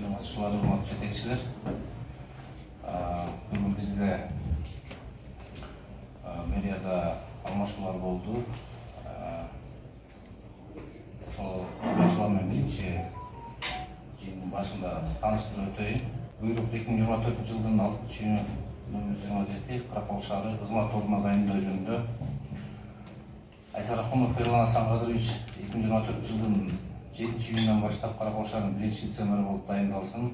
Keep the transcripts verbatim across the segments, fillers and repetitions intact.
Катышуулар, урматтуу жетекчилер, бүгүн бизде мэрияда алмашуулар болду. Ошол алмашуулар менен биринчи жыйындын башында тааныштырып өтөйүн. Буйрук эки миң жыйырма төртүнчү жылдын алтынчы июнү номер жыйырма жети Каракол шаары кызмат ордуна дайындоо жөнүндө Айсар Ахунов Ерлан Асанкадырович эки миң жыйырма төртүнчү жылдын жетинчи июнунан баштап Каракол шаарынын биринчи вице-мэрі болуп дайындалсын.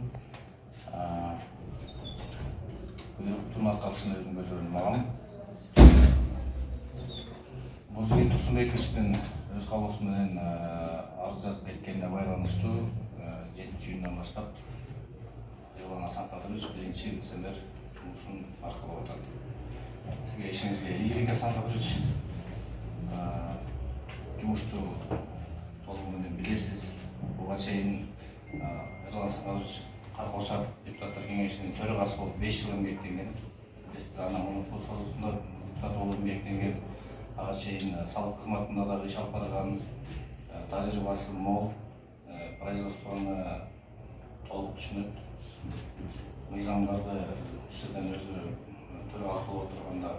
Буйруктун аткарышын өзүм көзөмөлгө алам. Мурзабек Турсунбековичтин өз каалоосу менен арыз жазып кеткенине байланыштуу жетинчи июндан баштап Ерлан Асанкадырович биринчи вице-мэр жумушун аркалап атат. Сизге ишиңизге ийгилик, Асанкадырович. Жумушту толугу менен билесиз. Буга чейин Ерлан Асанкадырович Каракол шаар депутаттар кеңешинин төрагасы болуп беш жыл эмгектенген. Билесиздер, анан муну созуктунда депутат болуп эмгектенген. Ага чейин салык кызматында дагы иш алып барган, тажрыйбасы мол, производствону толук түшүнөт. Мыйзамдарды үч жерден өзү төрагасы болуп отурганда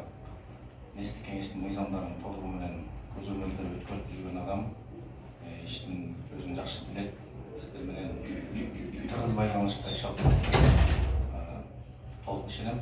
местик кеңештин мыйзамдарын толугу менен көзөмөлдөрүп өткөрүп жүргөн адам. Иштин өзүн жакшы билет. Сиздер менен тыгыз байланышта иш алып толук ишенем.